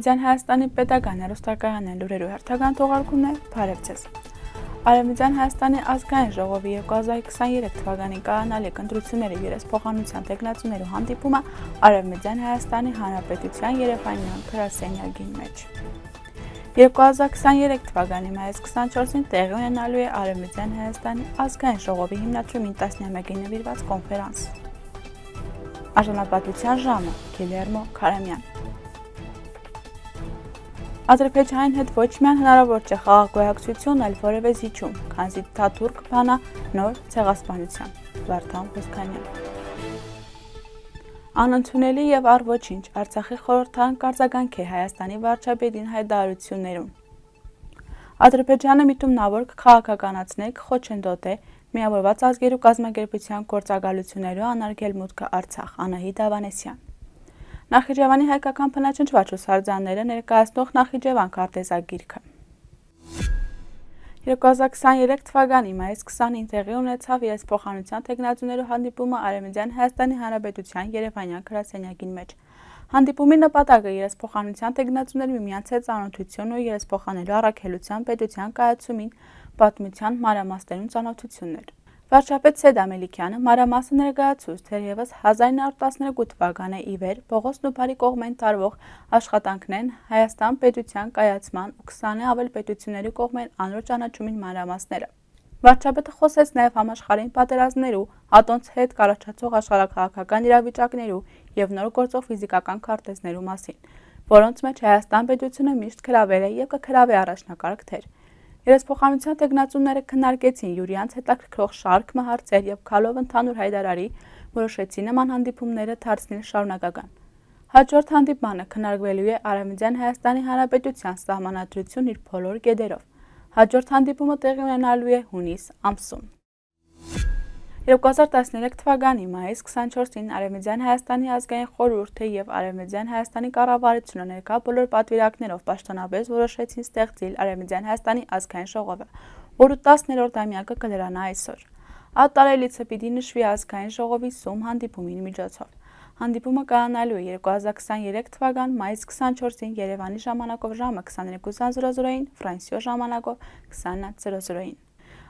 Արևմտյան Հայաստանի պետական հեռուստակայանի լուրերու հերթական թողարկումն է, բարև ձեզ։ Արևմտյան Հայաստանի ազգային ժողովի 2023 թվականի կայանալիք ընտրությունների երեսփոխանության տեխնացուներու հանդիպումը Արևմտյան Հայաստանի Հանրապետության Երևանյան գրասենյակին մեջ։ 2023 թվականի մայիսի 24-ին տեղի ունենալու է Արևմտյան Հայաստանի ազգային ժողովի հիմնադրումին 11-ին նվիրված կոնֆերանս։ Արժանապատվության ժամը Գիլերմո Քարամյան։ Ադրբեջանին հետ ոչ միայն հնարավոր չէ խաղաղ գոյակցություն, այլ որևէ զիջում, քանզի Թաթուրք բանա նոր ցեղասպանության։ Վարդան Ոսկանյան։ Անընդունելի եւ առ ոչինչ Արցախի խորհրդարան կարձագանք է Հայաստանի վարչապետին հայտարարություններում։ Ադրբեջանը միտումնավոր քաղաքականացնել կխոչընդոտե միավորված ազգերու կազմակերպության գործակալություններու անարգել մուտքը Արցախ Անահիտ Ավանեսյան։ Նախիջևանի հայկական բնաճնճված հուշարձանները ներկայացնող Նախիջևան քարտեզագիրքը։ 2023 թվականի մայիսի 20-ին տեղի ունեցավ երեսփոխանության տեխնացուներու հանդիպումը Արևմտյան Հայաստանի Հանրապետության Երևանյան գրասենյակին մեջ։ Հանդիպումի նպատակը երեսփոխանության տեխնացուների միմյանց հետ ծանոթություն ու երեսփոխանելու առաքելության պետության կայացումին պատմության մանրամասներուն ծանոթությունն էր։ Վարչապետ Սեյեդ Ամելիքյանը մանրամասը ներկայացուց թերևս 1912 թվականի ի վեր Պողոս Նուբարի կողմեն տարվող աշխատանքներն Հայաստան պետության կայացման ու 20-ը ավել պետությունների կողմեն անոր ճանաչումին մանրամասները։ Վարչապետը խոսեց նաև համաշխարհային պատերազմներու, ատոնց հետ կառաջացող աշխարհաքաղաքական իրավիճակներու եւ նոր գործող ֆիզիկական քարտեզներու մասին, որոնց մեջ Հայաստան պետությունը միշտ գրավել է եւ կգրավի առաջնակարգ թեր։ Երեսփոխանության տեխնացուները քննարկեցին յուրյանց հետաքրքրող շարք հարցեր եւ քալով ընդհանուր հայտարարի որոշեցին նման հանդիպումները դարձնել շարունակական։ Հաջորդ հանդիպմանը քննարկվելու է Արևմտյան Հայաստանի Հանրապետության սահմանադրություն իր բոլոր կետերով։ Հաջորդ հանդիպումը տեղի ունենալու է հունիս ամսում։ 2013 թվականի մայիսի 24-ին Արևմտյան Հայաստանի ազգային խորհուրդը եւ Արևմտյան Հայաստանի կառավարությունը ներկա բոլոր պատվիրակներով պաշտոնապես որոշեցին ստեղծել Արևմտյան Հայաստանի ազգային ժողովը, որը 10-րդ ամյակը կլրանա այսօր։ Այդ տարելիցը պիտի նշվի ազգային ժողովի սում հանդիպումի միջոցով։ Հանդիպումը կայանալու է 2023 թվական մայիսի 24-ին Երևանի ժամանակով ժամը 22:00-ին, Ֆրանսիո ժամանակով 20:00-ին։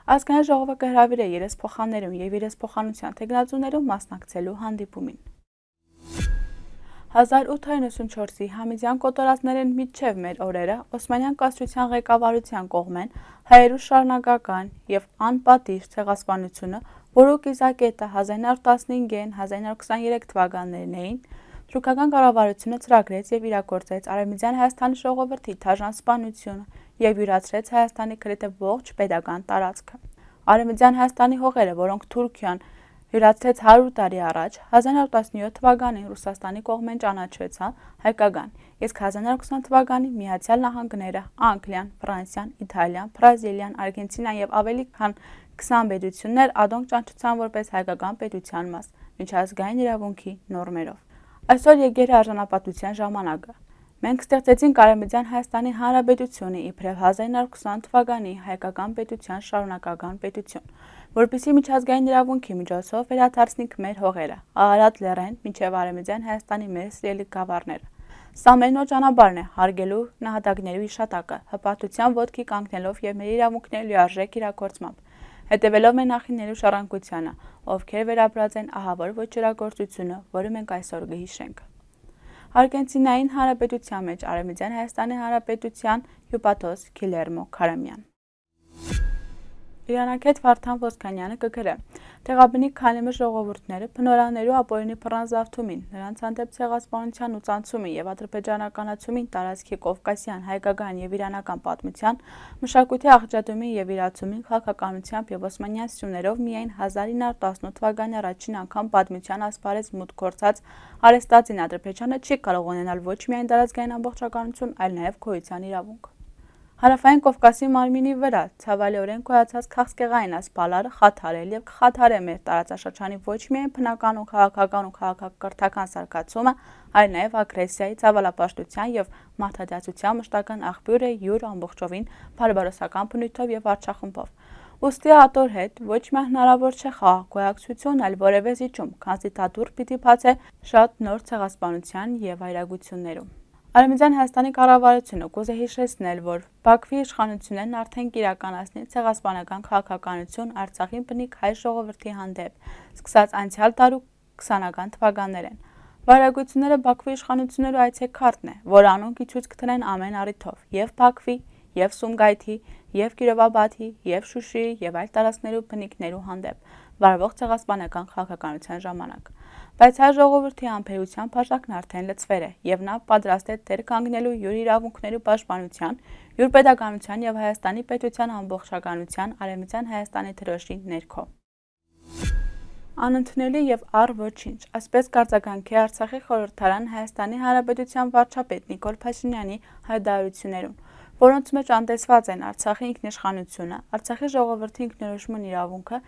Ազգային ժողովը կհրավիրե երեսփոխաններուն եւ երեսփոխանության տեխնացուներուն մասնակցելու հանդիպումին։ 1894-ի Համիդյան կոտորածներն միջև մեր օրերը Օսմանյան կայսրության ղեկավարության կողմեն հայերու շարունակական եւ անպատիժ ցեղասպանությունը, որը կիզակետը 1915-1923 թվականներն էին, թուրքական կառավարությունը ծրագրեց եւ իրագործեց Արևմտյան Հայաստանի ժողովրդի դաժան սպանությունը եւ յուրացրեց Հայաստանի գրեթե ողջ պետական տարածքը։ Արևմտյան Հայաստանի հողերը, որոնք Թուրքիան յուրացրեց 100 տարի առաջ, 1917 թվականին Ռուսաստանի կողմեն ճանաչվեցան հայկական, իսկ 1920 թվականին Միացյալ Նահանգները, Անգլիան, Ֆրանսիան, Իտալիան, Բրազիլիան, Արգենտինան եւ ավելի քան 20 պետություններ ադոնք ճանաչեցան որպես հայկական պետության մաս, միջազգային իրավունքի նորմերով։ Այսօր եկել է արժանապատվության ժամանակը։ Մենք ստեղծեցինք Արևմտյան Հայաստանի Հանրապետությունը իբրև 1920 թվականի հայկական պետության շարունակական պետություն, որպեսզի միջազգային իրավունքի միջոցով վերադարձնենք մեր հողերը, Արարատ լեռեն մինչև Արևմտյան Հայաստանի մեր սիրելի գավառները։ Սա մեր նոր ճանապարհն է հարգելու նահատակներու իշատակը, հպարտության ոտքի կանգնելով եւ մեր իրավունքների լիարժեք իրագործմամբ, հետևելով մեր նախնիներու շարունակությանը, ովքեր վերապրած են ահավոր ոչրագործությունը, որը մենք այսօր կհիշենք։ Արգենտինային Հանրապետության մեջ Արևմտյան Հայաստանի Հանրապետության հյուպատոս Գիլերմո Քարամյան։ Իրանակետ Վարդան Ոսկանյանը կգրե տեղաբնիկ քանիմը ժողովուրդները բնորաներու ապօրինի բռնազավթումին, նրանց հանդեպ ցեղասպանության ու ծանցումին եւ ադրբեջանականացումին տարածքի կովկասյան, հայկական եւ իրանական պատմության, մշակույթի աղճատումին եւ իրացումին քաղաքականությամբ եւ օսմանյան սյուներով միայն 1918 թվականի առաջին անգամ պատմության ասպարեզ մուտք գործած արեստացին Ադրբեջանը չի կարող ունենալ ոչ միայն տարածքային ամբողջականություն, այլ նաեւ գոյության իրավունք։ Հարավային Կովկասի մարմինի վրա ցավալիորեն գոյացած քաղցկեղային ասպալարը խաթարել եւ կխաթարե մեր տարածաշրջանի ոչ միայն բնական ու քաղաքական ու քաղաքակրթական զարգացումը, այլ նաեւ ագրեսիայի, ցավալապաշտության եւ մարդատացության մշտական աղբյուր է յուր ամբողջովին բարբարոսական բնույթով եւ արչախմբով։ Ուստի ատոր հետ ոչ միայն հնարավոր չէ խաղաղ գոյակցություն, այլ որևէ զիջում, քանզի Թաթուրք պիտի բացե շատ նոր ցեղասպանության եւ այրագություններում։ Արևմտյան Հայաստանի կառավարությունը կուզե հիշեցնել, որ Բաքվի իշխանություններն արդեն կիրականացնի ցեղասպանական քաղաքականություն Արցախին բնիկ հայ ժողովրդի հանդեպ, սկսած անցյալ տարու 20-ական թվականներեն։ Վարակությունները Բաքվի իշխանություններու այցեքարտն է, որ անոնք ցույց կտրեն ամեն առիթով, եւ Բաքվի, եւ Սումգայիթի, եւ Կիրովաբադի, եւ Շուշիի, եւ այլ տարածքներու բնիկներու հանդեպ վարվող ցեղասպանական քաղաքականության ժամանակ։ Բայց հայ ժողովրդի համբերության բաժակն արդեն լցվել է, եւ նա պատրաստ է դեր կանգնելու յուր իրավունքներու պաշտպանության, յուր պետականության եւ Հայաստանի պետության ամբողջականության Արևմտյան Հայաստանի դրոշի ներքո։ Անընդունելի եւ առ ոչինչ, այսպես կարձականքի Արցախի խորհրդարան Հայաստանի Հանրապետության վարչապետ Նիկոլ Փաշինյանի հայտարարություններուն, որոնց մեջ անտեսված են Արցախի ինքնիշխանությունը, Արցախի ժողովրդի ինքնորոշման իրավունքը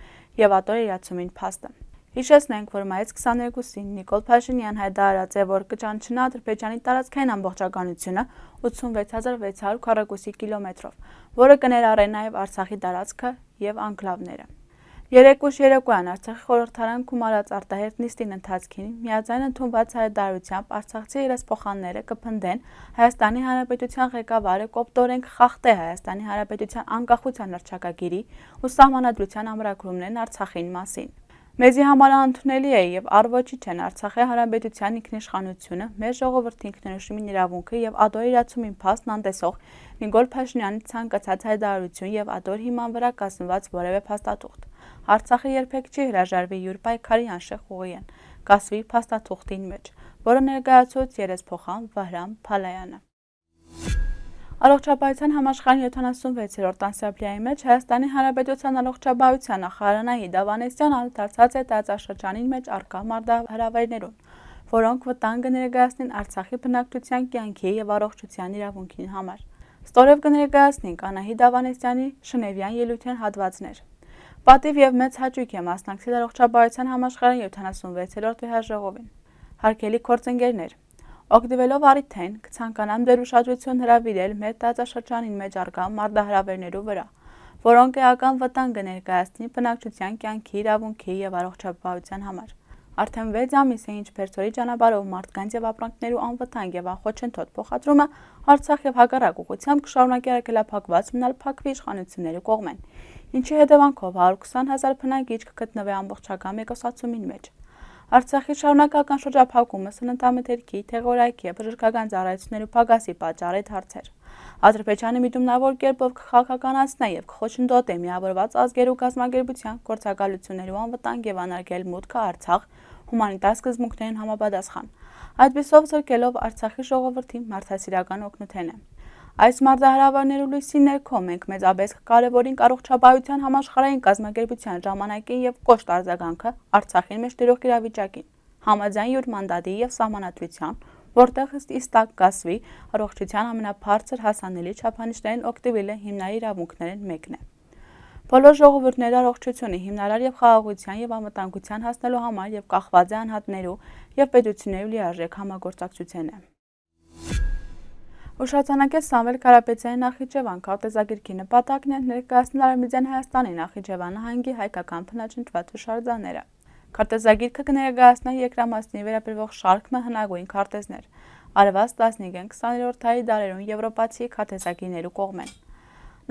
եւ ատոր իրացումին փաստը։ Հիշեցնենք, որ մայիս 22-ին Նիկոլ Փաշինյան հայտարարած է, որ կճանչնա Ադրբեջանի տարածքային ամբողջականությունը 86600 քառակուսի կիլոմետրով, որը կներառե նաեւ Արցախի տարածքը եւ անկլավները։ Երեկուշ երեկոյան Արցախի խորհրդարան կումարած արտահերտ նիստին ընթացքին միաձայն ընդունված հայտարարությամբ արցախցի իրացփոխանները կփնդեն Հայաստանի Հանրապետության ղեկավարը կոպտորեն կխախտե Հայաստանի Հանրապետության անկախության հռչակագիրի ու սահմանադրության ամրագրումներն Արցախին մասին։ Մեզի համար անընդունելի է եւ առ ոչինչ են Արցախի Հանրապետության ինքնիշխանությունը, մեր ժողովրդի ինքնորոշումին իրավունքը եւ ադոր իրացումին փաստն անտեսող Նիկոլ Փաշինյանի ցանկացած հայտարարություն եւ ադոր հիման վրա կազմված որևէ փաստաթուղթ։ Արցախը երբեք չի հրաժարվի յուր պայքարի անշեղ ուղիեն, կասվի փաստաթուղթին մեջ, որը ներկայացուց երեսփոխան Վահրամ Փալայանը։ Առողջապահության համաշխարհային 76-րդ անսամբլեայի մեջ Հայաստանի Հանրապետության առողջապահության նախարար Նահիդ Ավանեսյանը անդրադարձած է տարածաշրջանին մեջ առկա մարտահրավերներուն, որոնք վտանգ կներկայացնեն Արցախի բնակչության կյանքի եւ առողջության իրավունքին համար։ Ստորև կներկայացնենք Նահիդ Ավանեսյանի շնևյան ելույթին հատվածներ։ Պատիվ եւ մեծ հաճույք է մասնակցել առողջապահության համաշխարհային 76-րդ վեհաժողովին։ Հարգելի գործընկերներ, օգտվելով առիթեն կցանկանամ դեր ուշադրություն հրավիրել մեր տարածաշրջանին մեջ առկա մարտահրավերներու վրա, որոնք էական վտանգ կներկայացնի բնակչության կյանքի իրավունքի եւ առողջապահության համար։ Արդեն 6 ամիս է ինչ Բերձորի ճանապարհով մարդկանց եւ ապրանքներու անվտանգ եւ անխոչընդոտ փոխադրումը Արցախ եւ հակառակ ուղղությամբ կշարունակի արգելափակված մնալ Բաքվի իշխանությունների կողմեն, ինչի հետևանքով 120,000 բնակիչ կգտնվի ամբողջական մեկուսացումին մեջ։ Արցախի շարունակական շրջափակումը սննդամթերքի, թեղորայքի եւ բժշկական ծառայություններու պակասի պատճառ է դարձել։ Ադրբեջանը միտումնավոր կերպով կխաղաղականացնի եւ կխոչընդոտի միավորված ազգերու կազմակերպության գործակալություններու անվտանգ եւ անարգել մուտքը Արցախ հումանիտար սկզբունքներին համապատասխան, այդպիսով զրկելով Արցախի ժողովրդի մարդասիրական օգնութենը։ Այս մարտահրավերներու լույսի ներքո մենք մեծապես կկարևորենք առողջապահության համաշխարհային կազմակերպության ժամանակին եւ կոշտ արձագանքը Արցախին մեջ տիրող իրավիճակին, համաձայն յուր մանդատի եւ սահմանադրության, որտեղ ըստ կասվի առողջության ամենաբարձր հասանելի չափանիշներին օգտվելը հիմնարար իրավունքներն մեկն է։ Բոլոր ժողովուրդները առողջությունը հիմնարար եւ խաղաղության եւ անվտանգության հասնելու համար եւ կախված է անհատներու եւ պետություններու լիարժեք համագործակցությունն է։ Ուշացանակեց Սամվել Կարապետյանի Նախիջևան քարտեզագիրքի նպատակն է ներկայացնել Արևմտյան Հայաստանի Նախիջևան նահանգի հայկական բնաջնջված հուշարձանները։ Քարտեզագիրքը կներկայացնի երկրամասնի վերաբերող շարք հնագույն քարտեզներ, արված 15-20-րդ դարերուն եվրոպացի քարտեզագիրներու կողմեն։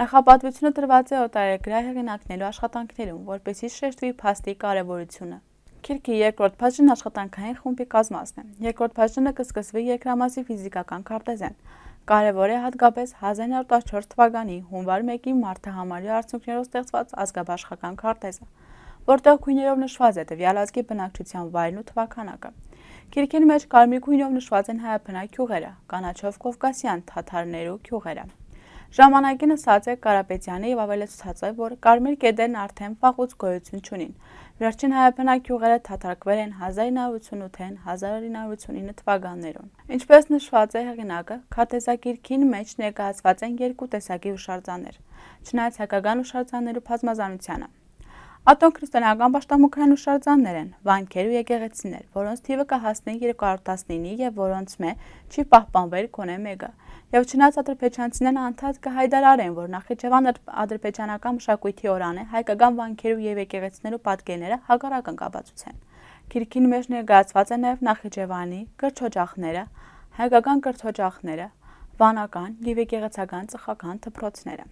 Նախապատվությունը տրված է օտարերկրյա հեղինակներու աշխատանքներուն, որպեսզի շեշտվի փաստի կարևորությունը։ Գիրքի երկրորդ բաժինն աշխատանքային խումբի կազմածն է։ Երկրորդ բաժինը կսկսվի երկրամասի ֆիզիկական քարտեզեն։ Կարևոր է հատկապես 1904 թվականի հունվար 1-ի մարտահամարի արդյունքներով ստեղծված ազգաբաշխական քարտեզը, որտեղ գույներով նշված է տվյալ ազգի բնակչության վայրն ու թվականակը։ Գիրքին մեջ կարմիր գույնով նշված են հայաբնակ գյուղերը, կանաչով կովկասյան թաթարներու գյուղերը։ Ժամանակին ասած է Կարապետյանը եւ ավելացած է, որ կարմիր կետերն արդեն վաղուց գոյություն չունին։ Վերջին հայաբնակ գյուղերը թաթարքվել են 1988-ին 1989 թվականներուն։ Ինչպես նշված է հեղինակը, քարտեզագիրքին մեջ ներկայացված են երկու տեսակի հուշարձաններ, չնայած հայկական հուշարձաններու բազմազանությանը։ Ատոն-քրիստոնեական պաշտամունքային հուշարձաններ են, վանքեր ու եկեղեցիներ, որոնց թիվը կհասնի 219-ի եւ որոնց մե չի պահպանվել գոնե մեկը։ Եվ չնայած ադրբեջանցիներն անդադ կհայտարարեն, որ Նախիջևան ադրբեջանական մշակույթի օրան է, հայկական վանքերու եւ եկեղեցիներու պատկերները հակառակ կապացուցեն։ Գիրքին մեջ ներկայացված է նաեւ Նախիջևանի կրճօջախները, հայկական կրթօջախները, վանական և եկեղեցական ծխական դպրոցները։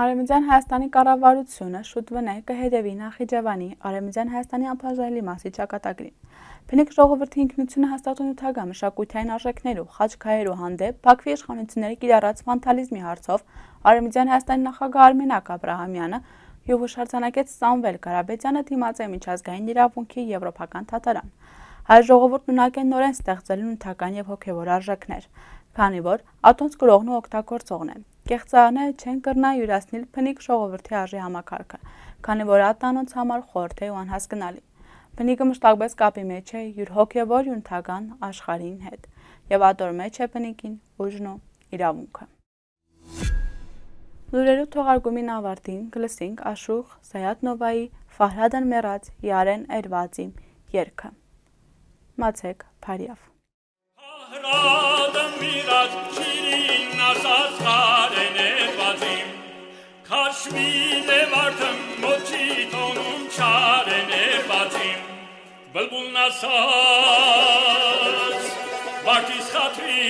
Արևմտյան Հայաստանի կառավարությունը շուտ վնե կհետևի Նախիջևանի Արևմտյան Հայաստանի անբաժանելի մասի ճակատագրին։ Փնիկ ժողովրդի ինքնությունը հաստատուն նյութական մշակութային արժեքներու, խաչքայերու հանդեպ Բաքվի իշխանությունների կիրառած վանդալիզմի հարցով Արևմտյան Հայաստանի նախագահ Արմենակ Աբրահամյանը և հուշարձանագետ Սամվել Կարապետյանը դիմաց է միջազգային իրավունքի եվրոպական դատարան։ Հայ ժողովուրդն ունակ է նորեն ստեղծելու նյութական և հոգևոր արժեքներ, քանի որ ատոնց գրողն ու օգտագործողն է։ Կեղծարները չեն կրնա յուրացնել փնիկ ժողովրդի արժի համակարգը, քանի որ ատանոնց համար խորհուրդ է ու անհասկանալի։ Փնիկը մշտակպես կապի մեջ է յուր հոգևոր ու նյութական աշխարհին հետ, և ատոր մեջ է փնիկին ուժն ու իրավունքը։ Լուրերու թողարկումին ավարտին գլսինք Աշուխ Սայաթնովայի Ֆահրադան մեռած Յարեն Էրվազի երգը։ Մացեք Փարիավ։ Ֆահրադան մեռած Շիրին ասած Յարեն Էրվազի Քաշմիլե վարդն մոչի տոնում Չարեն Էրվազի Բլբուլն ասած Վարդիս խատրի